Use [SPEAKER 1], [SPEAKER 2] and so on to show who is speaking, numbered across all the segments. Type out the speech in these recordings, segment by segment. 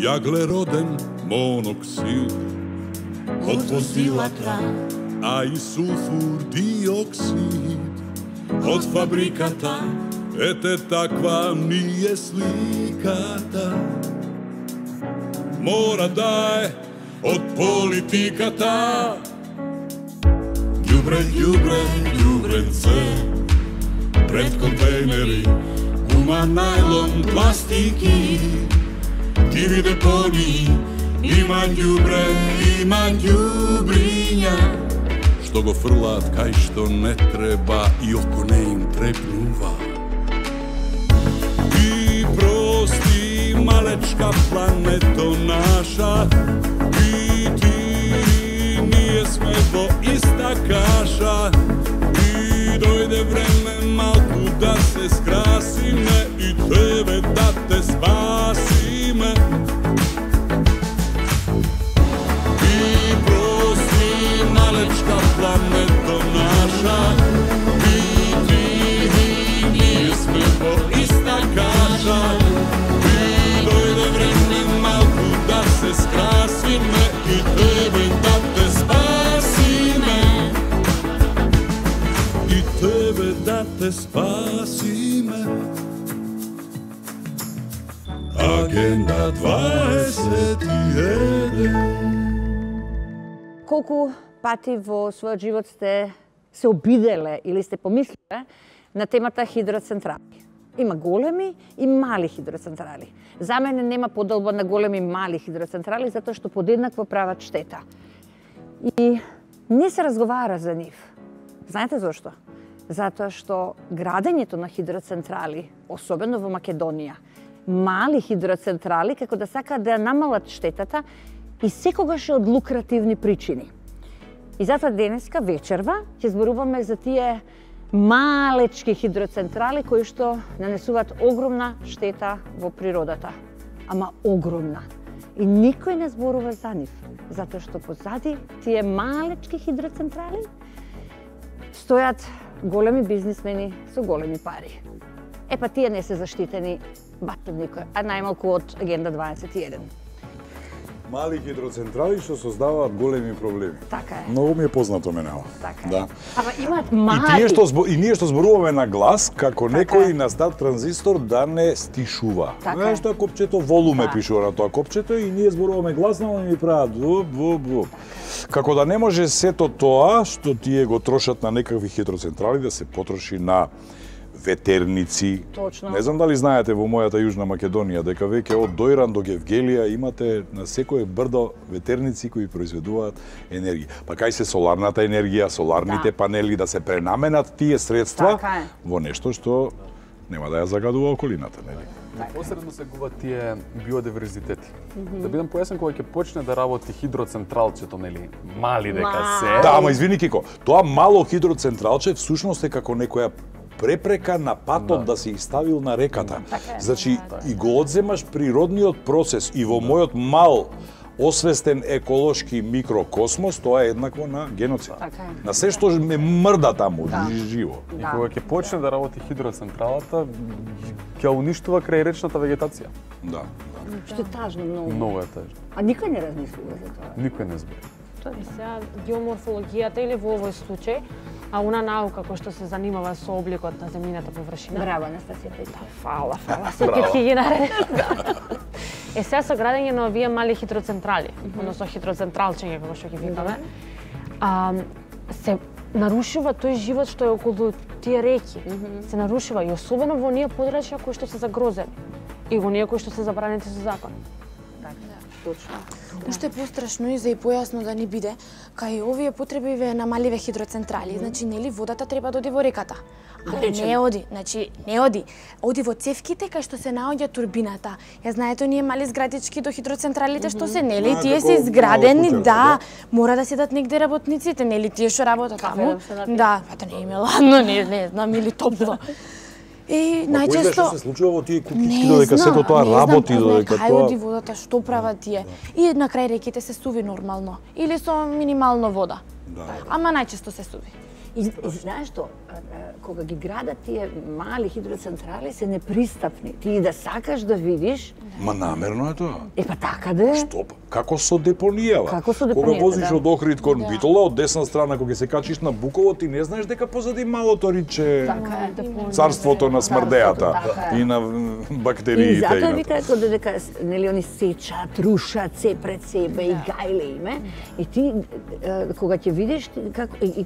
[SPEAKER 1] јаглероден моноксид од возилата, а и сулфур диоксид од фабриката. Ете таква ми е сликата. Мора да е од политиката. Ѓубре, ѓубре, ѓубренце пред контейнери, гума, најлон, пластики, диви депони, има ѓубре, има ѓубриња, што го фрлаат кај што не треба и око не им трепнува. И прости, малечка плането наша, и ти, ние сме во иста каша, и дојде време малку да се скрасиме и тебе да те спасиме. И прости, малечка плането наша, и ти, ние сме во иста каша, и дојде време малку да се скрасиме и тебе да те спасиме. И тебе да те спасиме. Агенда 21.
[SPEAKER 2] Колку пати во својот живот сте се обиделе или сте помислиле на темата хидроцентрали? Има големи и мали хидроцентрали. За мене нема поделба на големи и мали хидроцентрали, затоа што подеднакво прават штета. И не се разговара за нив. Знаете зошто? Затоа што градењето на хидроцентрали, особено во Македонија, мали хидроцентрали, како да сакаат да ја намалат штетата, и секогаш е од лукративни причини. И затоа денеска вечерва ќе зборуваме за тие малечки хидроцентрали кои што нанесуваат огромна штета во природата. Ама огромна. И никој не зборува за нив, затоа што позади тие малечки хидроцентрали стојат големи бизнисмени со големи пари. Епа тие не се заштитени баш од никој, а најмалку од Агенда 21.
[SPEAKER 3] Мали хидроцентрали што создаваат големи проблеми.
[SPEAKER 2] Така е.
[SPEAKER 3] Многу ми е познато мене ова.
[SPEAKER 2] Така е.
[SPEAKER 3] Да.
[SPEAKER 2] Ама имаат мали.
[SPEAKER 3] И ние што зборуваме на глас, како
[SPEAKER 2] Така
[SPEAKER 3] некој
[SPEAKER 2] е.
[SPEAKER 3] на стар транзистор да не стишува.
[SPEAKER 2] Така
[SPEAKER 3] Знаеш
[SPEAKER 2] е.
[SPEAKER 3] што копчето волуме
[SPEAKER 2] Да.
[SPEAKER 3] пишува на тоа копчето и ние зборуваме гласно, и ми прават вуп. Како да не може сето тоа што тие го трошат на некакви хидроцентрали да се потроши на ветерници.
[SPEAKER 2] Точно.
[SPEAKER 3] Не знам дали знаете во мојата Јужна Македонија дека веќе од Дојран до Гевгелија имате на секое брдо ветерници кои произведуваат енергија. Па кај се соларната енергија, соларните панели да се пренаменат тие средства
[SPEAKER 2] Така е.
[SPEAKER 3] во нешто што нема да ја загадува околината, нели?
[SPEAKER 4] Посредно се губат тие биодиверзитети. Да бидам појасен, кога ќе почне да работи хидроцентралчето, нели, мали дека се.
[SPEAKER 3] Да, ама извини Кико, тоа мало хидроцентралче всушност е како некоја препрека на патот да се изставил на реката. Значи, и го одземаш природниот процес и во мојот мал освестен еколошки микрокосмос, тоа е еднакво на геноцид.
[SPEAKER 2] Така е.
[SPEAKER 3] На се што ме мрда таму, живо.
[SPEAKER 4] И кога ќе почне да работи хидроцентралата, ќе уништува крајречната вегетација.
[SPEAKER 3] Да.
[SPEAKER 2] Што е тажно многу.
[SPEAKER 4] Многу е тажно.
[SPEAKER 2] А никој не размислува за тоа.
[SPEAKER 4] Никој не збори.
[SPEAKER 5] И сега геоморфологијата или во овој случај, а она наука која што се занимава со обликот на земјината површина.
[SPEAKER 2] Браво, Анастасија Пејчева.
[SPEAKER 5] Фала, секој ќе ги нареди. Е сега со градење на овие мали хидроцентрали, односно хидроцентралчиња како што ги викаме, се нарушува тој живот што е околу тие реки. Се нарушува и особено во оние подрачја кои што се загрозени и во оние кои што се забранети со закон.
[SPEAKER 2] Точно.
[SPEAKER 6] Уште пострашно и за и појасно да ни биде, кај овие потреби на маливе хидроцентрали, значи нели водата треба да оди во реката. Али не оди, значи не оди. Оди во цевките кај што се наоѓа турбината. Ја знаете оние мали зградички до хидроцентралите што се, нели, тие се изградени, да, мора да седат негде работниците, нели, тие што работат таму. Да, па не им е ладно, не знам, или топло. И најчесто
[SPEAKER 3] Што се случува во тие кукички додека сето тоа работи, додека
[SPEAKER 6] кај
[SPEAKER 3] тоа
[SPEAKER 6] оди водата, што прават тие? И на крај реките се суви нормално или со минимално вода. Ама најчесто се суви.
[SPEAKER 2] И знаеш што, кога ги градат тие мали хидроцентрали се непристапни. Ти да сакаш да видиш.
[SPEAKER 3] Ма намерно е тоа.
[SPEAKER 2] Па така да е.
[SPEAKER 3] Што? Како со депонијава?
[SPEAKER 2] Како со
[SPEAKER 3] Кога
[SPEAKER 2] депонијата,
[SPEAKER 3] возиш
[SPEAKER 2] да.
[SPEAKER 3] од Охрид кон Битола, од десна страна кога се качиш на Буково, ти не знаеш дека позади малото риче царството на смрдејата и на бактериите.
[SPEAKER 2] И затоа викаат дека нели они сечат, рушат се пред себе и гајле име. И ти кога ќе видиш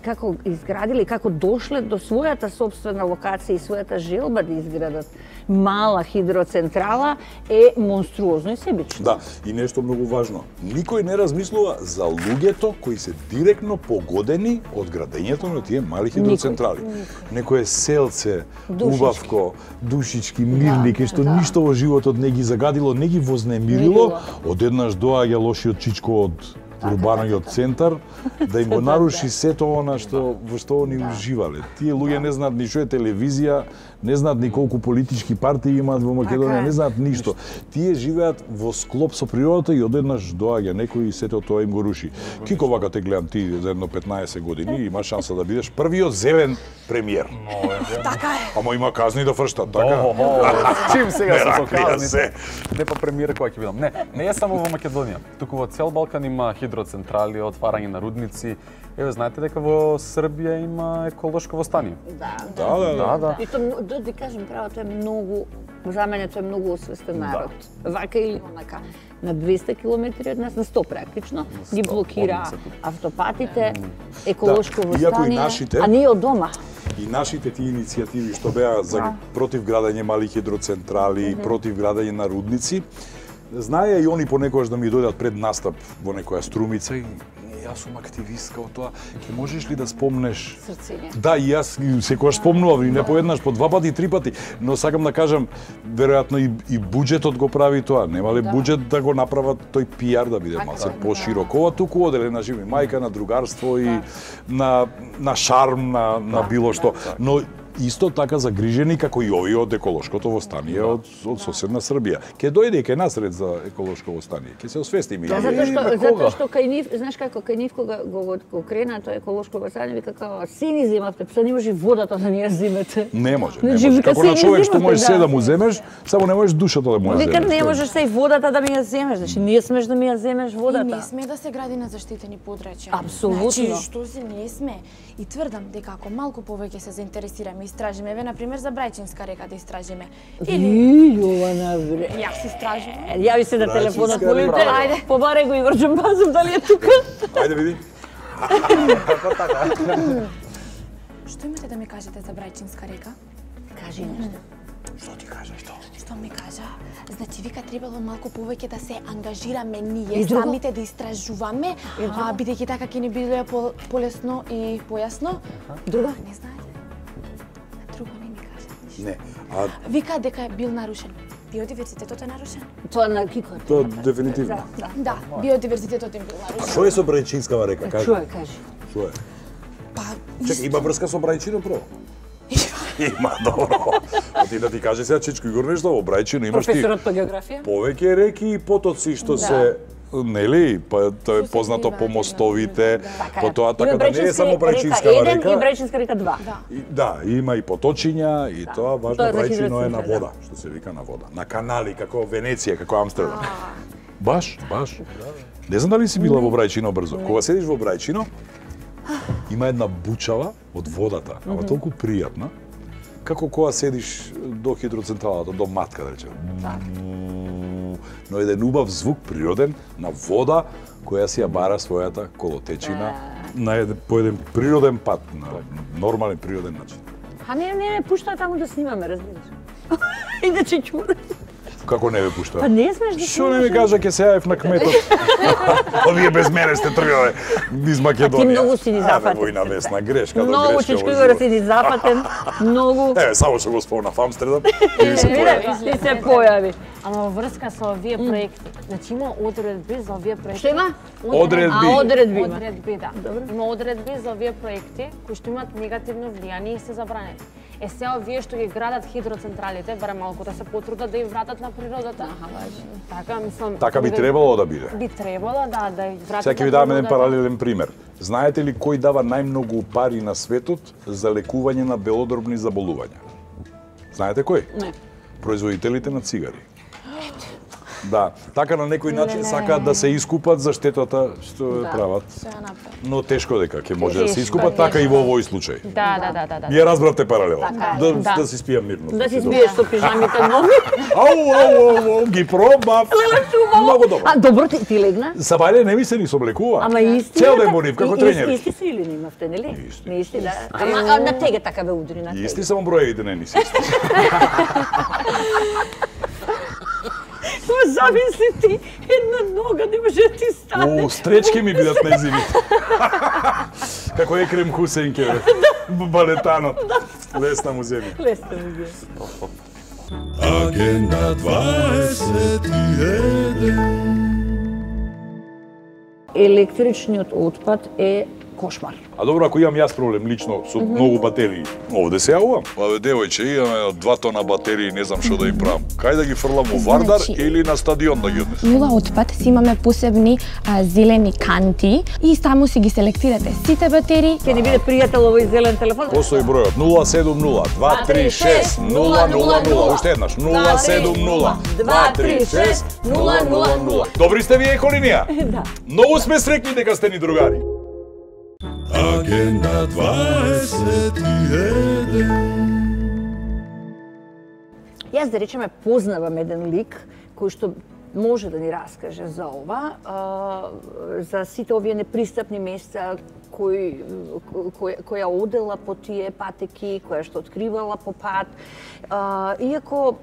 [SPEAKER 2] како изградиле, како дошле до својата сопствена локација и својата желба да изградат мала хидроцентрала е монструозно и себично.
[SPEAKER 3] Да, и нешто многу важно. Никој не размислува за луѓето кои се директно погодени од градењето на тие мали хидроцентрали. Некое селце, убавко, душички, мирни, кај што ништо во животот не ги загадило, не ги вознемирило, одеднаш доаѓа лошиот чичко од урбаниот центар да им го наруши сето она што во што они уживале. Тие луѓе не знаат ни што е телевизија, не знаат ни колку политички партии имаат во Македонија, не знаат ништо. Тие живеат во склоп со природата и одеднаш доаѓа некој и сето тоа им го руши. Кико вака те гледам ти за едно 15 години, има шанса да бидеш првиот зелен премиер.
[SPEAKER 6] Така е.
[SPEAKER 3] Ама има казни да фрштат, така?
[SPEAKER 4] Чим сега се
[SPEAKER 3] раклија
[SPEAKER 4] показни?
[SPEAKER 3] се.
[SPEAKER 4] Не па премиер која ќе бидам. Не е само во Македонија. Туку во цел Балкан има хидроцентрали, отварање на рудници. Еве, знаете дека во Србија има еколошко востание?
[SPEAKER 3] Да.
[SPEAKER 2] И тоа, да ти кажем право, тоа е многу, за мене тоа е многу освестен народ. Вака или онака. На 200 километри од нас, на 100 практично, ги блокира автопатите, еколошко востание, а ние од дома.
[SPEAKER 3] И нашите тие иницијативи што беа за против градење мали хидроцентрали, против градење на рудници, знаеја и они понекогаш да ми дојдат пред настап во некоја струмица и јас сум активистка од тоа. Ќе можеш ли да спомнеш?
[SPEAKER 2] Срцење.
[SPEAKER 3] Да, и јас секогаш спомнувам и не поеднаш, по 2 пати, 3 пати, но сакам да кажам, веројатно и буџетот го прави тоа. Нема ли буџет да го направат тој пиар да биде малце поширок? Ова туку оделе на живи мајка, на другарство и на шарм, на било што. Но исто така загрижени како и овие од еколошкото востание од соседна Србија. Ке дојде ке насред за еколошко востание. Ке се освестиме.
[SPEAKER 2] Затоа што кај нив, знаеш како кај нив кога го крена тоа еколошко востание, вика како сини земавте, пса не може водата да ни ја земете.
[SPEAKER 3] Не може. Како на човек што можеш се да му земеш, само не можеш душата да му ја земеш.
[SPEAKER 2] Вика не можеш се и водата да ми ја земеш, значи не смеш да ми ја земеш водата.
[SPEAKER 6] И не сме да се гради на заштитени подрачја.
[SPEAKER 2] Апсолутно.
[SPEAKER 6] Значи, што се не сме. И тврдам дека ако малку повеќе се заинтересираме, истражиме, еве на пример за Брајчинска река да истражиме. Или
[SPEAKER 2] Јована бре.
[SPEAKER 6] јас истражувам.
[SPEAKER 2] Јави се на телефонот,
[SPEAKER 3] Брајчинска
[SPEAKER 2] молите.
[SPEAKER 3] река.
[SPEAKER 2] Ајде, побаре го Игор Џамбазов дали е тука.
[SPEAKER 3] Ајде види.
[SPEAKER 6] Што имате да ми кажете за Брајчинска река?
[SPEAKER 2] Кажи нешто.
[SPEAKER 3] Што ти кажеш тоа?
[SPEAKER 6] Што ми кажа? Значи, вика требало малку повеќе да се ангажираме ние самите да истражуваме, бидејќи така ќе ни биде полесно и појасно.
[SPEAKER 2] Друго?
[SPEAKER 6] Не знаете? Друго не ми кажа ништо.
[SPEAKER 3] Не.
[SPEAKER 6] Вика дека е бил нарушен. Биодиверзитетот е нарушен?
[SPEAKER 2] Тоа на Кикот.
[SPEAKER 3] Тоа дефинитивно.
[SPEAKER 6] Да, биодиверзитетот е бил нарушен.
[SPEAKER 3] Што е со Брајчинскава река? Кажи.
[SPEAKER 2] Кажи.
[SPEAKER 3] Што е?
[SPEAKER 6] Па,
[SPEAKER 3] Чекај, има врска со Брајчино прво? Има, добро. Ти да ти кажи сега, Чичко Игор, нешто во Брајчино имаш ти
[SPEAKER 2] Професорот по географија?
[SPEAKER 3] повеќе реки и потоци што се нели, па тоа е познато по мостовите, по тоа така да не е само Брајчинскава река.
[SPEAKER 2] И Брајчинска река 2.
[SPEAKER 3] Да, има и поточиња и тоа важно
[SPEAKER 2] Тоа е за
[SPEAKER 3] Брајчино е на
[SPEAKER 2] хидроцентрали,
[SPEAKER 3] вода, што се вика на вода, на канали како Венеција, како Амстердам. Баш. Не знам дали си била во Брајчино брзо. Кога седиш во Брајчино, има една бучава од водата, ама толку пријатна, како кога седиш до хидроцентралата, до матка, да речем. Но еден убав звук природен на вода која си ја бара својата колотечина по еден природен пат, на нормален природен начин.
[SPEAKER 2] Не, пуштаа таму да снимаме, разбираш. Иначе чуде.
[SPEAKER 3] Како не ве пуштаа?
[SPEAKER 2] Па не смеш да
[SPEAKER 3] Што не ми кажа ке се јавев на кметот? Овие без мене сте тргнале низ Македонија.
[SPEAKER 2] Ти многу си ни запатен.
[SPEAKER 3] Војна весна грешка,
[SPEAKER 2] Многу Чичко Игор си ни запатен, многу.
[SPEAKER 3] Еве, само што го спомна в Амстердам.
[SPEAKER 2] И се појави.
[SPEAKER 5] Ама во врска со овие проекти, значи има одредби за овие проекти.
[SPEAKER 2] Што има?
[SPEAKER 3] Одредби.
[SPEAKER 2] Одредби има.
[SPEAKER 5] Одредби, да. Има одредби за овие проекти кои што имаат негативно влијание и се забранети. Сега овие што ги градат хидроцентралите, барем малку да се потрудат да ја вратат на природата. Така, мислам...
[SPEAKER 3] Така би требало да биде.
[SPEAKER 5] Би требало, да ја вратат.
[SPEAKER 3] Сега ќе ви дадам еден паралелен пример. Знаете ли кој дава најмногу пари на светот за лекување на белодробни заболувања? Знаете кој?
[SPEAKER 2] Не.
[SPEAKER 3] Производителите на цигари. Да, така на некој начин сакаат да се искупат за штетата што прават. Но тешко дека ќе може да се искупат, така и во овој случај.
[SPEAKER 5] Да.
[SPEAKER 3] Вие разбравте паралела. Да си спијам мирно.
[SPEAKER 2] Да си спиеш со пижамите нови.
[SPEAKER 3] Ау, ги пробав. Многу добро.
[SPEAKER 2] А добро ти легна?
[SPEAKER 3] Сабајле не ми се ни соблекува.
[SPEAKER 2] Ама исти.
[SPEAKER 3] Цел ден бонив како тренер.
[SPEAKER 2] Исти се или не имавте, нели? Не исти, да. Ама на теге така ве удри на теге.
[SPEAKER 3] Исти само броевите не ни се исти.
[SPEAKER 2] Замисли ти, една нога не може да ти стане.
[SPEAKER 3] Стречки ми бидат нејзините. Како Екрем Хусенке, балетанот. Лесна му земја.
[SPEAKER 2] Лесна му земја.
[SPEAKER 1] Агенда 21.
[SPEAKER 2] Електричниот отпад е кошмар.
[SPEAKER 3] А добро, ако имам јас проблем лично со многу батерии, овде се јавувам. Абе, девојче, имаме 2 тона батерии, не знам што да им правам. Кај да ги фрлам во Вардар или на стадион да ги однесам?
[SPEAKER 6] Нула отпад си имаме посебни зелени канти и таму си ги селектирате сите батерии.
[SPEAKER 2] Ќе ни биде пријател овој зелен телефон.
[SPEAKER 3] Постои бројот 070-236-000. Уште еднаш 070-236-000. Добри сте вие еколинија?
[SPEAKER 2] Да.
[SPEAKER 3] Многу сме среќни дека сте ни другари.
[SPEAKER 1] Агенда 21.
[SPEAKER 2] Јас да речеме познавам еден лик кој што може да ни раскаже за ова, за сите овие непристапни места која одела по тие патеки, која што откривала по пат. Иако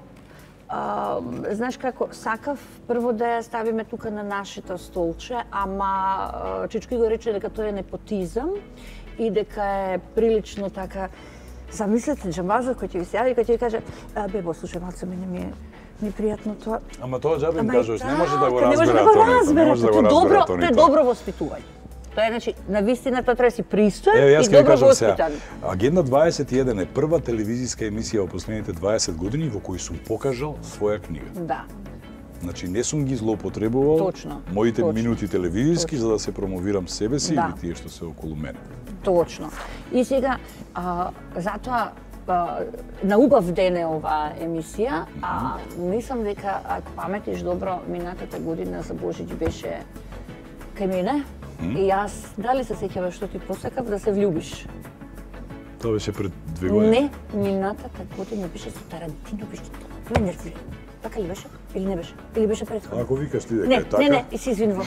[SPEAKER 2] знаеш како, сакав прво да ја ставиме тука на нашето столче, ама Чичко го рече дека тоа е непотизам и дека е прилично така. Замислете, Джамбазов кој ќе ви се јави, кој ќе ви каже: "Бебо, слушај, малце мене ми е непријатно тоа."
[SPEAKER 3] Ама тоа џабе им кажуваш, не може да го
[SPEAKER 2] Не може да
[SPEAKER 3] разбере
[SPEAKER 2] го
[SPEAKER 3] тоа. Не
[SPEAKER 2] разбере.
[SPEAKER 3] може да го
[SPEAKER 2] Тоа
[SPEAKER 3] разбере
[SPEAKER 2] е добро воспитување. Тоа е, значи, на вистина тоа треба да си пристоен
[SPEAKER 3] Еве, јас
[SPEAKER 2] и
[SPEAKER 3] ќе ви
[SPEAKER 2] добро
[SPEAKER 3] кажам сега.
[SPEAKER 2] воспитан.
[SPEAKER 3] Агенда 21 е прва телевизиска емисија во последните 20 години во кој сум покажал своја книга.
[SPEAKER 2] Да.
[SPEAKER 3] Значи не сум ги злоупотребувал
[SPEAKER 2] Точно,
[SPEAKER 3] моите
[SPEAKER 2] точно.
[SPEAKER 3] минути телевизиски за да се промовирам себе си
[SPEAKER 2] Да.
[SPEAKER 3] или тие што се околу мене.
[SPEAKER 2] Точно. И сега, затоа на убав ден е оваа емисија, мислам дека ако паметиш добро, минатата година за Божич беше кај мене. И јас, дали се сеќаваш што ти посакав да се влюбиш?
[SPEAKER 3] Тоа беше пред 2 години.
[SPEAKER 2] Не, минатата година беше со Тарантино, беше тоа нервиран. Така ли беше? Или не беше? Или беше претходно?
[SPEAKER 3] Ако викаш ти дека
[SPEAKER 2] Не,
[SPEAKER 3] е така.
[SPEAKER 2] не, и се извинувам.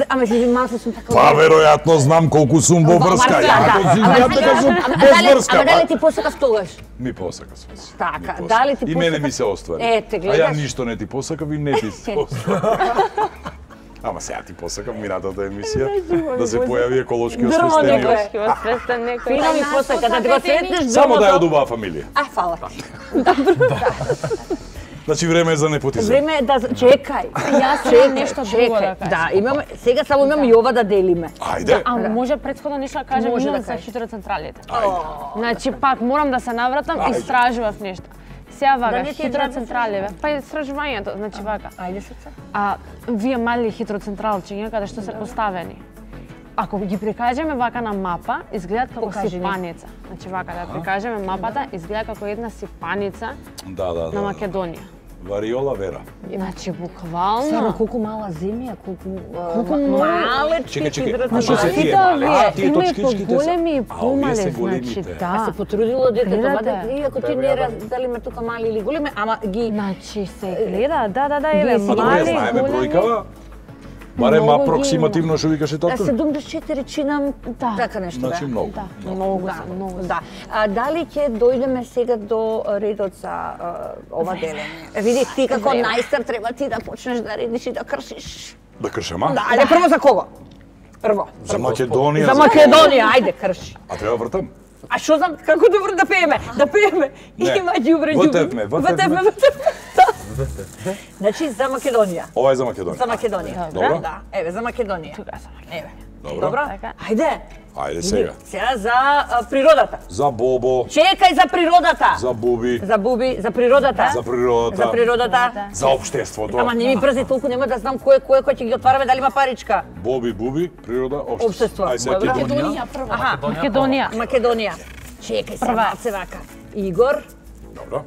[SPEAKER 2] Ама се извинувам, сум така.
[SPEAKER 3] Па веројатно знам колку сум во врска. Ако си знам дека сум без врска.
[SPEAKER 2] Ама дали ти посакав тогаш?
[SPEAKER 3] Ми посака се.
[SPEAKER 2] Така, дали ти
[SPEAKER 3] И мене
[SPEAKER 2] посакав?
[SPEAKER 3] ми се оствари.
[SPEAKER 2] Ете,
[SPEAKER 3] А ја
[SPEAKER 2] гледаш.
[SPEAKER 3] ништо не ти посакав и не ти се оствари. Ама сега ти посакав минатата емисија да се појави еколошки освестениот.
[SPEAKER 5] Ќе освестен некој.
[SPEAKER 2] Фина ми посака да ти го сретнеш
[SPEAKER 3] Само да ја од
[SPEAKER 2] другото.
[SPEAKER 3] убава фамилија.
[SPEAKER 2] Фала ти.
[SPEAKER 3] Значи време е за непотизам.
[SPEAKER 2] Време е да чекај.
[SPEAKER 5] Јас имам нешто друго да кажам.
[SPEAKER 2] Да, имаме, сега само имам и ова да делиме.
[SPEAKER 3] Ајде.
[SPEAKER 5] А може претходно нешто да кажам
[SPEAKER 2] Може да
[SPEAKER 5] имам за
[SPEAKER 2] кажеш.
[SPEAKER 5] хидроцентралите.
[SPEAKER 3] Ајде.
[SPEAKER 5] Значи пак морам да се навратам,
[SPEAKER 3] Ајде.
[SPEAKER 5] истражував нешто. Сега вака,
[SPEAKER 2] не ти е
[SPEAKER 5] хидроцентрали, па истражувањето, значи вака.
[SPEAKER 2] Ајде срце.
[SPEAKER 5] Вие мали хидроцентралчиња каде што се поставени. Ако ги прикажеме вака на мапа, изгледаат како
[SPEAKER 2] Покажи ни.
[SPEAKER 5] сипаница. Значи вака да прикажеме мапата, изгледа како една сипаница
[SPEAKER 3] Да.
[SPEAKER 5] на Македонија.
[SPEAKER 3] Вариола Вера.
[SPEAKER 5] Значи
[SPEAKER 2] Само
[SPEAKER 5] буквално
[SPEAKER 2] колку мала земја, колку
[SPEAKER 5] многу.
[SPEAKER 2] малечки
[SPEAKER 3] Чекај, а што
[SPEAKER 2] хидроцентрали.
[SPEAKER 3] се тие
[SPEAKER 5] Сите
[SPEAKER 3] мали?
[SPEAKER 5] овие
[SPEAKER 3] Тие
[SPEAKER 5] има и
[SPEAKER 3] точкичките се-
[SPEAKER 5] поголеми и
[SPEAKER 3] А, овие
[SPEAKER 5] помали,
[SPEAKER 3] се
[SPEAKER 5] значи
[SPEAKER 3] големите.
[SPEAKER 2] А се
[SPEAKER 5] да.
[SPEAKER 2] потрудило детето,
[SPEAKER 5] Гледате.
[SPEAKER 2] мада иако ти не дали ме тука мали или големи, ама ги
[SPEAKER 5] Значи се гледа, да, еве
[SPEAKER 2] Вие
[SPEAKER 3] А добре,
[SPEAKER 5] мали,
[SPEAKER 3] знаеме
[SPEAKER 5] големи.
[SPEAKER 3] бројкава. Барем
[SPEAKER 5] Многу ги
[SPEAKER 3] апроксимативно што викаше тату.
[SPEAKER 2] 74 чинам,
[SPEAKER 5] Да.
[SPEAKER 2] така нешто бе.
[SPEAKER 3] Значи многу.
[SPEAKER 5] Да, многу се, многу се.
[SPEAKER 2] Да. Дали ќе дојдеме сега до редот за ова делење? Види ти како
[SPEAKER 5] Време.
[SPEAKER 2] најстар треба ти да почнеш да редиш и да кршиш.
[SPEAKER 3] Да кршам, а?
[SPEAKER 2] Да, ајде прво за кого? Прво.
[SPEAKER 3] За Македонија.
[SPEAKER 2] За Македонија, ајде крши.
[SPEAKER 3] А треба вртам?
[SPEAKER 2] А што знам како добро да пееме? Да пееме.
[SPEAKER 3] Не.
[SPEAKER 2] Има ѓубре
[SPEAKER 3] Втевме.
[SPEAKER 2] Значи за Македонија.
[SPEAKER 3] Ова е за Македонија.
[SPEAKER 2] За Македонија.
[SPEAKER 3] Добро.
[SPEAKER 2] Да, еве за Македонија.
[SPEAKER 5] Тука сам.
[SPEAKER 2] Еве.
[SPEAKER 3] Добро.
[SPEAKER 2] Ајде.
[SPEAKER 3] Ајде сега.
[SPEAKER 2] Сега за природата.
[SPEAKER 3] За Бобо.
[SPEAKER 2] Чекај за природата.
[SPEAKER 3] За Буби.
[SPEAKER 2] За Буби, за природата.
[SPEAKER 3] За природата.
[SPEAKER 2] За природата.
[SPEAKER 3] За општеството.
[SPEAKER 2] Ама не ми брзи толку, нема да знам кој ќе ги отвараме, дали има паричка.
[SPEAKER 3] Боби, Буби, природа,
[SPEAKER 2] Општество.
[SPEAKER 3] Ај сега
[SPEAKER 6] Македонија прва.
[SPEAKER 2] Македонија. Чекај сега, вака. Игор.
[SPEAKER 3] Добро.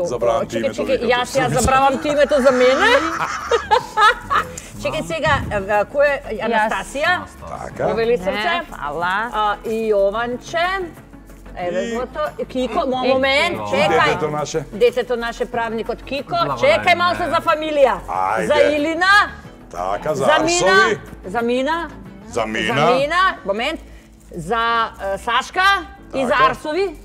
[SPEAKER 2] Забравам
[SPEAKER 3] ти името.
[SPEAKER 2] Јас ја забравам ти името за мене. Чекај сега, кој е Анастасија?
[SPEAKER 3] Така.
[SPEAKER 2] Повели срце.
[SPEAKER 5] Фала.
[SPEAKER 2] И Јованче. Еве злото. Кико, момент, чекај.
[SPEAKER 3] Детето наше.
[SPEAKER 2] Детето наше, правникот Кико. Чекај малку за фамилија.
[SPEAKER 3] Ајде.
[SPEAKER 2] За Илина.
[SPEAKER 3] Така, за
[SPEAKER 2] Мина.
[SPEAKER 3] Арсови.
[SPEAKER 2] За Мина.
[SPEAKER 3] За Мина.
[SPEAKER 2] За Мина. Момент. За Сашка. И за Арсови.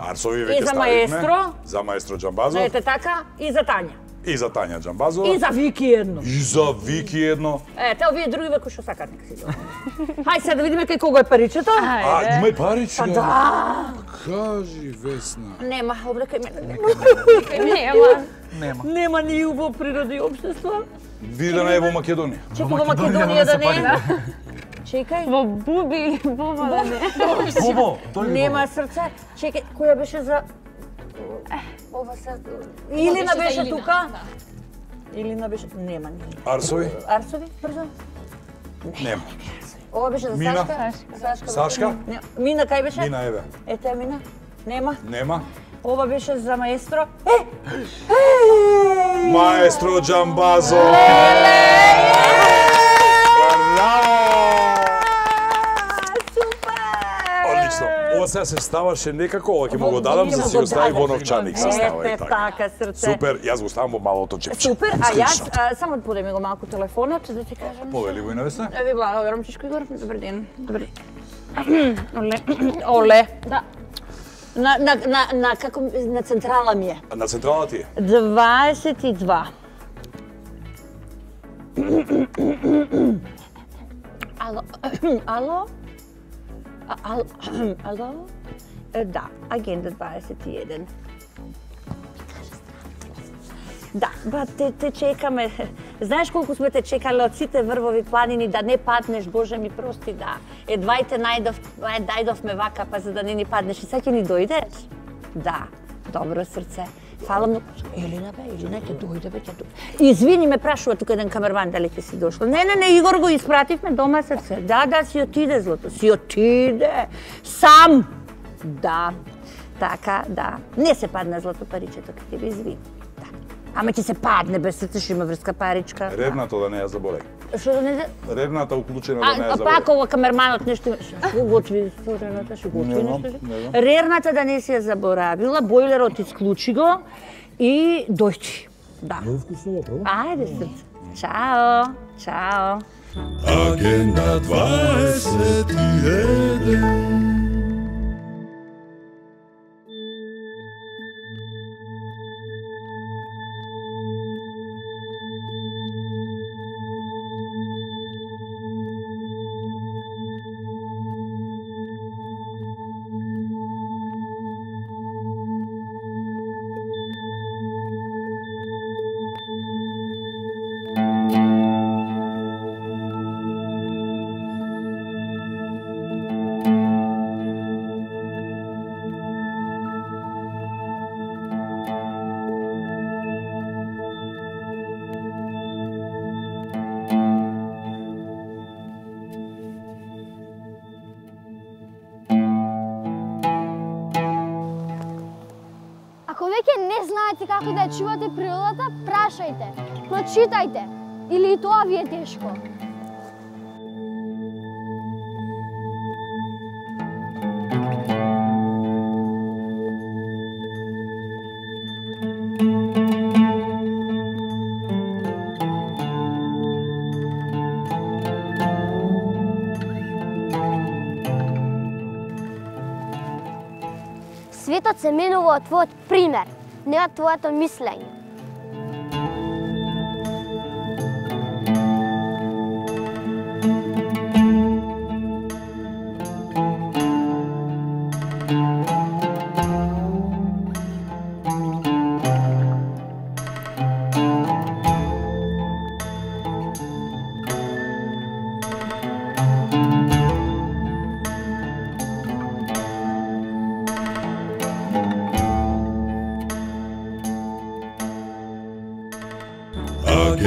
[SPEAKER 3] Арсови
[SPEAKER 2] И
[SPEAKER 3] веќе
[SPEAKER 2] за
[SPEAKER 3] ставивме.
[SPEAKER 2] маестро.
[SPEAKER 3] За маестро Џамбазов.
[SPEAKER 2] Ете така. И за Тања.
[SPEAKER 3] И за Тања Џамбазова.
[SPEAKER 2] И за Вики едно.
[SPEAKER 3] И за Вики едно.
[SPEAKER 2] Ете, овие други кои што сакат нека си го. Хај сега да видиме кај кого е паричето.
[SPEAKER 3] Има и паричка.
[SPEAKER 2] Да.
[SPEAKER 3] Кажи, Весна.
[SPEAKER 2] Нема, овде кај мене.
[SPEAKER 5] Нема.
[SPEAKER 2] Нема ни убаво природа и општество.
[SPEAKER 3] Види да не е во Македонија.
[SPEAKER 2] Чекай во Македонија да не е. Чекај.
[SPEAKER 5] Во Буби или Боба да не.
[SPEAKER 4] Бобо, дојди.
[SPEAKER 2] Нема срце. Чекај, која беше за ова се Илина беше тука. Илина беше, нема ни.
[SPEAKER 3] Арсови?
[SPEAKER 2] Арсови, брзо.
[SPEAKER 3] Нема.
[SPEAKER 2] Ова беше за
[SPEAKER 3] Мина?
[SPEAKER 2] Сашка.
[SPEAKER 3] Сашка?
[SPEAKER 2] Не, Мина кај беше?
[SPEAKER 3] Мина, еве.
[SPEAKER 2] Ете Мина. Нема.
[SPEAKER 3] Нема.
[SPEAKER 2] Ова беше за маестро.
[SPEAKER 3] Маестро Џамбазов. Одлично. Ова сега се ставаше некако, ова ќе му го дадам за да си го стави во новчаник се става и
[SPEAKER 2] Ете
[SPEAKER 3] така.
[SPEAKER 2] така срце.
[SPEAKER 3] Супер, јас го ставам во малото чепче.
[SPEAKER 2] Супер, а јас само подеми го малку телефонот да ти кажам.
[SPEAKER 3] Повели го и на Весна.
[SPEAKER 2] Ви благодарам Чичко Игор. Добар ден. Добар ден. Оле. Да. На како на централа ми е.
[SPEAKER 3] На централа ти е?
[SPEAKER 2] 22. Ало. Ало? Ало? Да, агенда 21. Да, ба те чекаме. Знаеш колку сме те чекале од сите врвови планини да не паднеш, Боже ми прости, да. Едвајте најдовме вака, па за да не ни паднеш. И сега ќе ни дојдеш? Да, добро срце. Фала многу. Елина ќе дојде, ќе дојде. Извини, ме прашува тука еден камерман дали ќе си дошла. Не, Игор го испративме дома срце. Да, си отиде злото, си отиде. Сам. Да, така, да. Не се падна злато паричето, ке тебе извини. Ама ќе се падне, без срце што има врска паричка.
[SPEAKER 3] Ревнато да не ја заборај.
[SPEAKER 2] Што да не...
[SPEAKER 3] Ревната уклучена да не ја заборај.
[SPEAKER 2] Пак ова камерманот нешто... Што готви Рената, што готви нешто? Ревната да не си ја заборавила, бойлерот исклучи го и дојчи. Да. Ајде срце. Чао. Чао.
[SPEAKER 1] Агенда 21.
[SPEAKER 7] Ако веќе не знаете како да ја чувате природата, прашајте, прочитајте, или и тоа ви е тешко. Светот се менува од твојот пример, не од твоето мислење.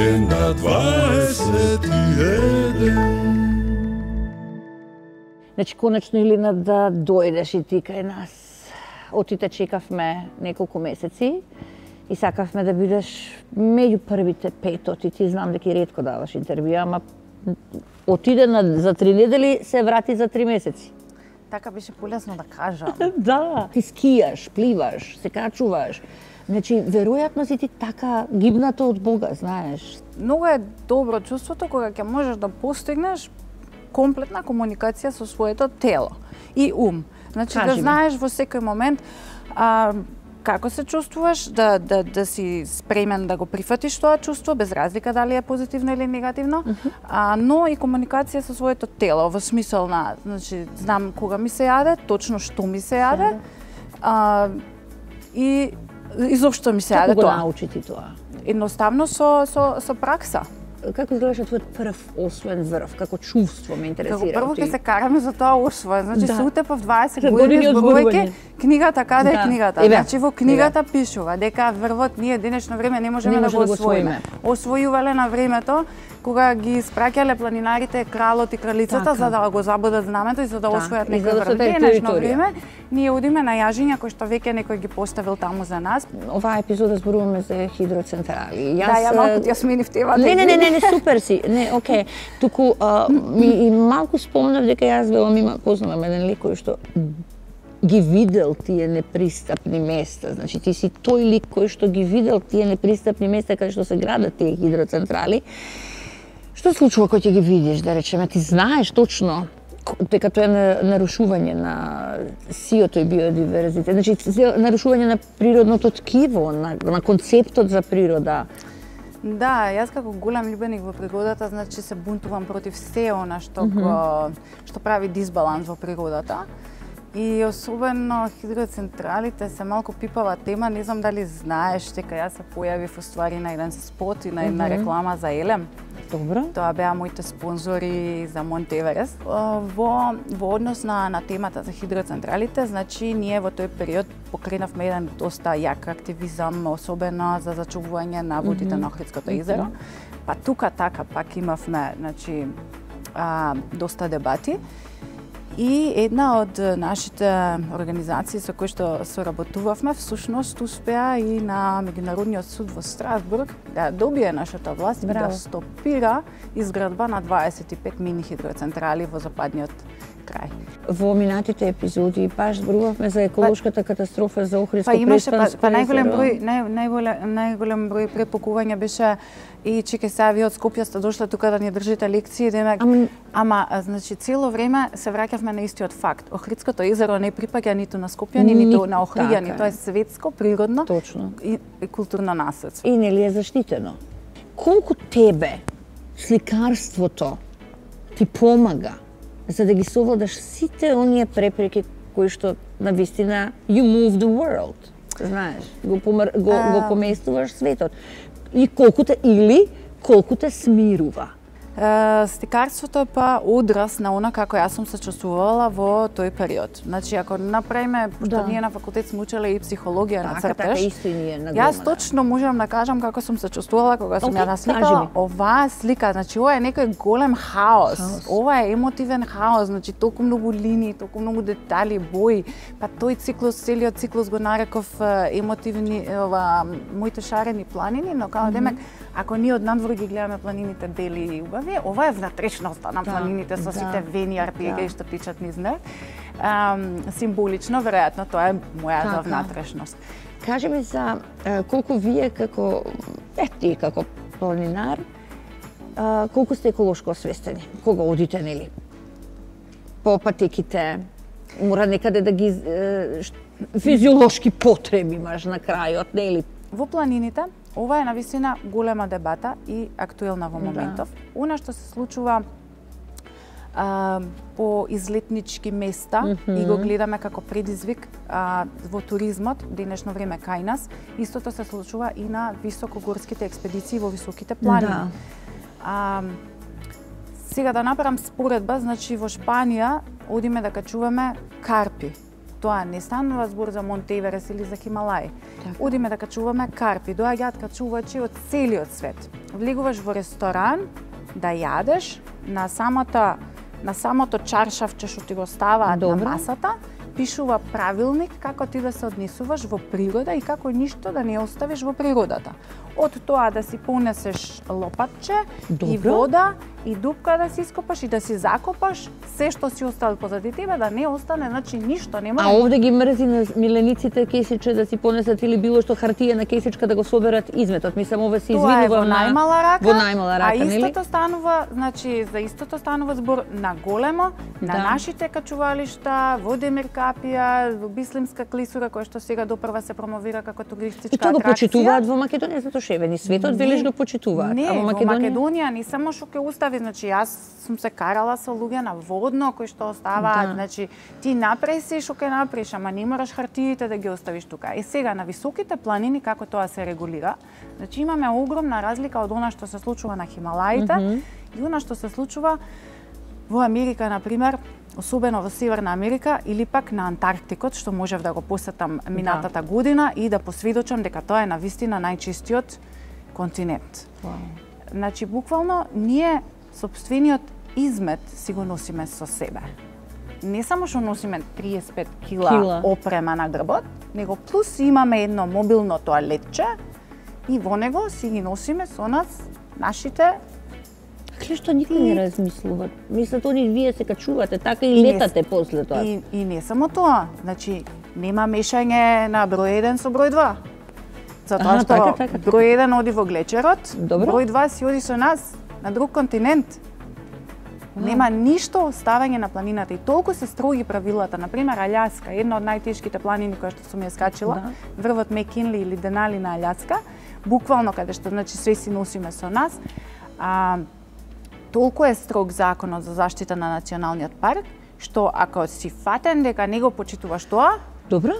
[SPEAKER 1] е на 21.
[SPEAKER 2] Значи, конечно, Илина, да дојдеш и ти кај нас. Отите чекавме неколку месеци и сакавме да бидеш меѓу првите 5. Ти знам дека и ретко даваш интервју, ама отиде за 3 недели, се врати за 3 месеци.
[SPEAKER 8] Така беше полесно да кажам.
[SPEAKER 2] Да, ти скијаш, пливаш, се качуваш. Значи, веројатно си ти така гибната од Бога, знаеш.
[SPEAKER 8] Многу е добро чувството кога ќе можеш да постигнеш комплетна комуникација со своето тело и ум. Значи, да знаеш во секој момент како се чувствуваш, да си спремен да го прифатиш тоа чувство, без разлика дали е позитивно или негативно, но и комуникација со своето тело, во смисол на, значи, знам кога ми се јаде, точно што ми се јаде, и изопшто ми се јаде тоа.
[SPEAKER 2] Како го научи ти тоа?
[SPEAKER 8] Едноставно со пракса.
[SPEAKER 2] Како изгледаше твојот прв освоен врв? Како чувство ме интересира?
[SPEAKER 8] Како прво ќе се караме за тоа освоен. Значи се утепав 20 години зборувајќи книгата, каде е книгата? Значи во книгата пишува дека врвот ние денешно време не можеме да го освоиме. Освојувале на времето кога ги испраќале планинарите кралот и кралицата за да го забодат знамето и за да освојат некој врв. Денешно време ние одиме на јажиња кои што веќе некој ги поставил таму за нас.
[SPEAKER 2] Оваа епизода зборуваме за хидроцентрали.
[SPEAKER 8] Ја малку ти ја сменив темата.
[SPEAKER 2] Не, супер си. Не, окей. Туку и малку спомнав дека јас велам познавам еден лик кој што ги видел тие непристапни места. Значи ти си тој лик кој што ги видел тие непристапни места каде што се градат тие хидроцентрали. Што се случува кога ќе ги видиш, да речеме, ти знаеш точно дека тоа е нарушување на сиото и биодиверзитет, значи нарушување на природното ткиво, на концептот за природа.
[SPEAKER 8] Да, јас како голем љубеник во природата, значи се бунтувам против се она што прави дисбаланс во природата. И особено хидроцентралите се малку пипава тема, не знам дали знаеш дека јас се појавив уствари на еден спот и на една реклама за Елем.
[SPEAKER 2] Добро.
[SPEAKER 8] Тоа беа моите спонзори за Монт Еверест. Во однос на темата за хидроцентралите, значи ние во тој период покренавме еден доста јак активизам, особено за зачувување на водите на Охридското езеро. Па тука така пак имавме, значи, доста дебати. И една од нашите организации со кои што соработувавме, всушност успеа и на Меѓународниот суд во Страсбург да добие нашата власт и да стопира изградба на 25 мини хидроцентрали во западниот крај.
[SPEAKER 2] Во минатите епизоди баш зборувавме за еколошката катастрофа за Охридско
[SPEAKER 8] преспанско најголем број препукување беше и чеке сега вие од Скопје сте дошле тука да ни држите лекции, демек, ама значи цело време се враќавме на истиот факт. Охридското езеро не припаѓа ниту на скопјани, ниту на охриѓани, тоа е светско, природно и културно наследство.
[SPEAKER 2] И нели е заштитено. Колку тебе сликарството ти помага за да ги совладаш сите оние препреки кои што навистина you move the world, знаеш, го поместуваш светот. И колку те смирува.
[SPEAKER 8] Сликарството е па одраз на она како јас сум се чувствувала во тој период. Значи, ако направиме, што ние на факултет сме учеле и психологија на цртеж, јас точно можам да кажам како сум се чувствувала кога сум ја насликала оваа слика. Значи, ова е некој голем хаос. Ова е емотивен хаос, значи толку многу линии, толку многу детали, бои. Па тој циклус, целиот циклус го нареков емотивни, моите шарени планини, но као демек, ако ние однадвор ги гледаме планините бели и убави, ова е внатрешноста на планините со сите вени, арпеги што тичат низ нив. Символично, веројатно, тоа е мојата внатрешност.
[SPEAKER 2] Кажи ми за колку вие како ти како планинар, колку сте еколошко освестени? Кога одите, нели? По патеките, мора некаде да ги физиолошки потреби имаш на крајот, нели?
[SPEAKER 8] Во планините, ова е навистина голема дебата и актуелна во моментов. Она што се случува по излетнички места и го гледаме како предизвик во туризмот, денешно време кај нас, истото се случува и на високогорските експедиции во високите планини. Сега да направам споредба, значи во Шпанија одиме да качуваме карпи. тоа не станува збор за Монт Еверест или за Хималаи. Одиме да качуваме карпи, доаѓаат качувачи од целиот свет. Влегуваш во ресторан да јадеш на самото чаршавче што ти го ставаат на масата, пишува правилник како ти да се однесуваш во природа и како ништо да не оставиш во природата. Од тоа да си понесеш лопатче и вода и дупка да си ископаш и да си закопаш, се што си оставил позади тебе да не остане, значи ништо нема.
[SPEAKER 2] А овде ги мрзи на милениците кесиче да си понесат или било што хартија на кесичка да го соберат изметот. Мислам ове се извинува
[SPEAKER 8] во најмала рака.
[SPEAKER 2] Во најмала рака,
[SPEAKER 8] нели? А истото станува, значи за истото станува збор на големо, на нашите качувалишта, во Демиркапија, во Бислимска клисура која што сега допрва се промовира како туристичка атракција.
[SPEAKER 2] И тоа го почитуваат во Македонија, затоа шевени светот велиш го почитуваат.
[SPEAKER 8] Не, во Македонија не само што ќе остави, значи јас сум се карала со луѓе на водно кои што оставаат, значи ти напреси што ќе напреш, ама не мораш хартиите да ги оставиш тука. Е сега на високите планини како тоа се регулира, значи имаме огромна разлика од она што се случува на Хималаите и она што се случува во Америка, например, особено во Северна Америка или пак на Антарктикот, што можев да го посетам минатата година и да посведочам дека тоа е навистина најчистиот континент. Значи, буквално, ние сопствениот измет си го носиме со себе. Не само што носиме 35 кила опрема на грбот, него плюс имаме едно мобилно тоалетче и во него си ги носиме со нас нашите.
[SPEAKER 2] Кле што никој не размислува. Мислат они вие се качувате така и летате после тоа.
[SPEAKER 8] И не само тоа, значи нема мешање на број 1 со број 2. Затоа што број 1 оди во глечерот, број 2 си оди со нас на друг континент. Нема ништо оставање на планината и толку се строги правилата. Например, Аљаска, една од најтешките планини која што сум ја скачила, врвот Мекинли или Денали на Аљаска, буквално каде што значи све си носиме со нас. Толку е строг законот за заштита на националниот парк, што ако си фатен дека не го почитуваш тоа,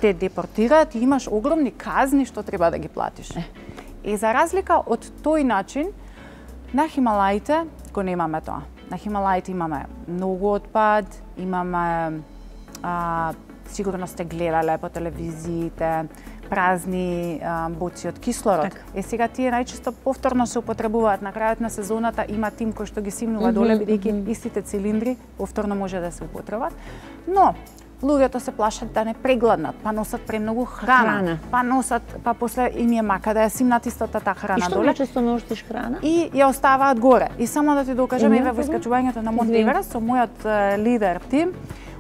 [SPEAKER 8] те депортираат и имаш огромни казни што треба да ги платиш. И за разлика од тој начин, на Хималаите го немаме тоа. На Хималаите имаме многу отпад, имаме, сигурно сте гледале по телевизиите, празни боци од кислород. Сега тие најчесто повторно се употребуваат. На крајот на сезоната има тим кој што ги симнува доле, бидејќи истите цилиндри повторно може да се употребат. Но луѓето се плашат да не прегладнат, па носат премногу храна. Па после им е мака да ја симнат истата таа храна доле.
[SPEAKER 2] И што најчесто носиш храна?
[SPEAKER 8] И ја оставаат горе. И само да ти докажам, еве во искачувањето на Монт Еверест со мојот лидер тим,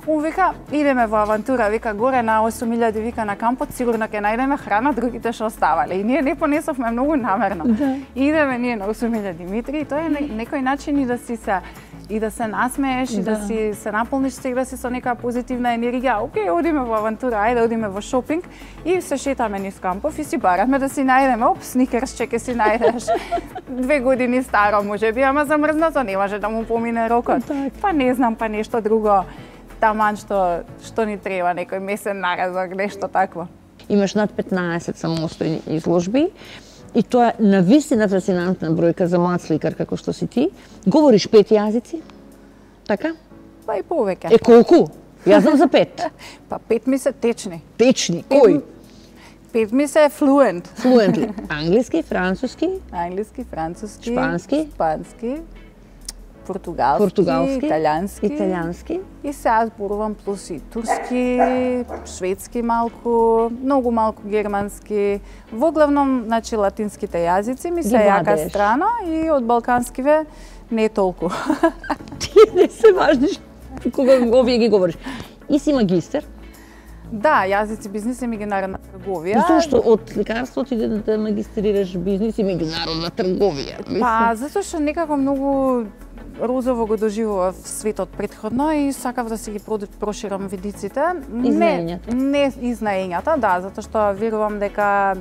[SPEAKER 8] он вика, идеме во авантура, вика, горе на 8000 вика на кампот, сигурно ќе најдеме храна, другите што оставале. И ние не понесовме многу намерно. Идеме ние на 8000 Димитри и тоа е некој начин и да се насмееш и да си се наполниш себе си со нека позитивна енергија. Океј, одиме во авантура, ајде одиме во шопинг и се шетаме низ кампов и си бараме да си најдеме, сникерсче ќе си најдеш. 2 години старо можеби, ама замрзнато, не може да му помине рокот. Па не знам, па нешто друго. Таман што ни треба, некој месен наразок, нешто такво.
[SPEAKER 2] Имаш над 15 самостојни изложби и тоа е навистина фасцинантна бројка за млад сликар како што си ти. Говориш 5 јазици? Така?
[SPEAKER 8] Па и повеќе.
[SPEAKER 2] Е колку? Јас знам за 5.
[SPEAKER 8] Па 5 ми се течни.
[SPEAKER 2] Течни? Кој?
[SPEAKER 8] 5 ми се флуент.
[SPEAKER 2] Флуентли. Англиски, француски?
[SPEAKER 8] Англиски, француски,
[SPEAKER 2] шпански,
[SPEAKER 8] португалски,
[SPEAKER 2] италијански.
[SPEAKER 8] И сега зборувам плюс и турски, шведски малку, многу малку германски. Во главном, значи, латинските јазици ми се јака страна и од балканскиве не толку.
[SPEAKER 2] Тие не се важни кога овие ги говориш. И си магистер?
[SPEAKER 8] Да, јазици, бизнис и меѓународна трговија.
[SPEAKER 2] Зошто од лекарство ти да магистрираш бизнис и меѓународна трговија?
[SPEAKER 8] Па, затоа што некако многу розово го доживував светот претходно и сакав да си ги проширам видиците. Не изнаењата, да, затоа што верувам дека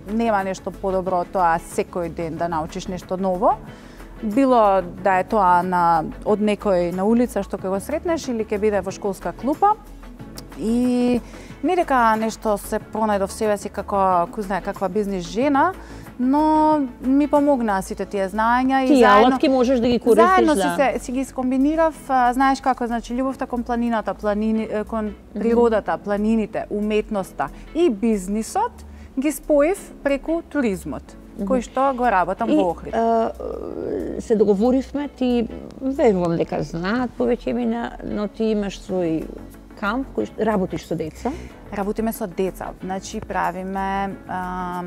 [SPEAKER 8] нема нешто подобро од тоа секој ден да научиш нешто ново. Било да е тоа од некој на улица што ќе го сретнеш или ќе биде во школска клупа. И не дека нешто се пронајдов себе си како, кој знае, каква бизнис жена, но ми помогнаа сите тие знаења
[SPEAKER 2] и заедно алатки можеш да ги користиш,
[SPEAKER 8] заедно си ги скомбинирав, знаеш како, значи љубовта кон планината, кон природата, планините, уметноста и бизнисот ги споив преку туризмот, кој што го работам во Охрид.
[SPEAKER 2] Се договоривме, ти верувам дека знаат повеќе имена, но ти имаш свој камп кој работиш со деца.
[SPEAKER 8] Работиме со деца, значи правиме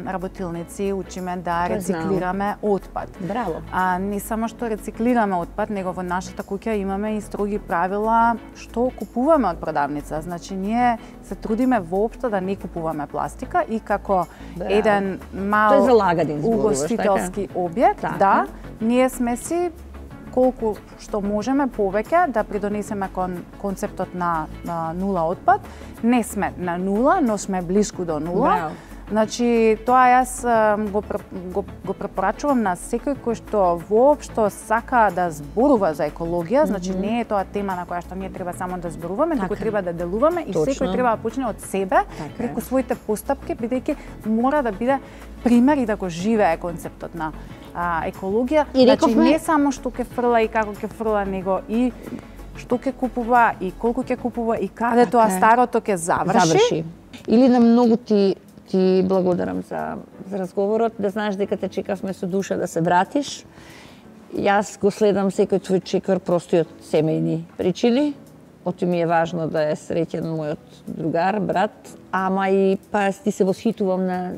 [SPEAKER 8] работилници, учиме да рециклираме отпад.
[SPEAKER 2] Браво.
[SPEAKER 8] Не само што рециклираме отпад, него во нашата куќа имаме и строги правила што купуваме од продавница. Значи ние се трудиме воопшто да не купуваме пластика и како еден мал угостителски објект, да, ние сме си колку што можеме повеќе да придонесеме кон концептот на нула отпад. Не сме на нула, но сме блиску до нула. Значи, тоа јас го препорачувам на секој кој што воопшто сака да зборува за екологија, значи не е тоа тема на која што ние треба само да зборуваме, туку треба да делуваме и секој треба да почне од себе, преку своите постапки, бидејќи мора да биде пример и да го живее концептот на екологија. Значи не само што ќе фрла и како ќе фрла, него и што ќе купува и колку ќе купува и каде тоа старото ќе заврши.
[SPEAKER 2] Или на многу ти благодарам за разговорот, да знаеш дека те чекавме со душа да се вратиш. Јас го следам секој твој чекор просто од семејни причини. Оти ми е важно да е среќен мојот другар, брат, ама и па ти се восхитувам на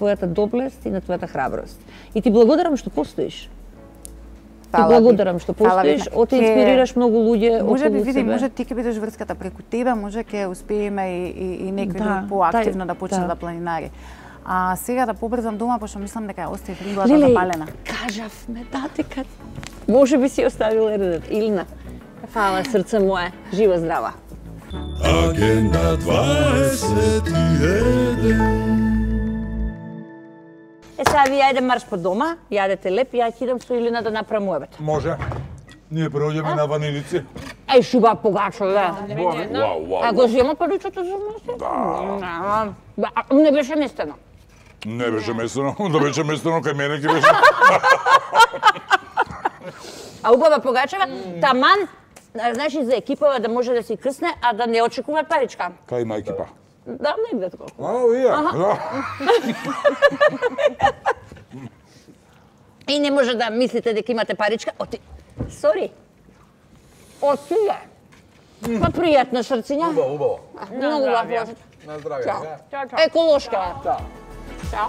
[SPEAKER 2] твојата доблест и на твојата храброст. И ти благодарам што постоиш. Ти благодарам што постоиш, оти инспирираш многу луѓе околу себе.
[SPEAKER 8] Може би види, може ти ќе бидеш врската преку тебе, може ќе успееме и некој друг поактивно да почне да планинари. А сега да побрзам дома, пошто мислам дека ја оставив рингата запалена.
[SPEAKER 2] Кажавме дека може би си оставила редот. Илна, фала срце мое, жива здрава.
[SPEAKER 1] Агенда 21.
[SPEAKER 2] Сега ви јајде марш по дома, јадете леп, ја ќе идам со Илина да направам муебет.
[SPEAKER 3] Може. Ние проđеме на ванилици.
[SPEAKER 2] Еј, шуба погачове. А го зема паричото за нас? Да. Не беше местено.
[SPEAKER 3] Не беше местено, да беше местено кај мене ќе беше.
[SPEAKER 2] А убава погачева, таман, значи за екипава да може да си крсне, а да не очекува паричка.
[SPEAKER 3] Кај има екипа?
[SPEAKER 2] Да, негде такова.
[SPEAKER 3] Да.
[SPEAKER 2] И не може да мислите дека имате паричка. Сори. Отиде. Па пријатна срциња.
[SPEAKER 3] Убаво.
[SPEAKER 2] Многу убаво.
[SPEAKER 3] На здравје.
[SPEAKER 2] Еколошка.
[SPEAKER 3] Чао.
[SPEAKER 2] Чао.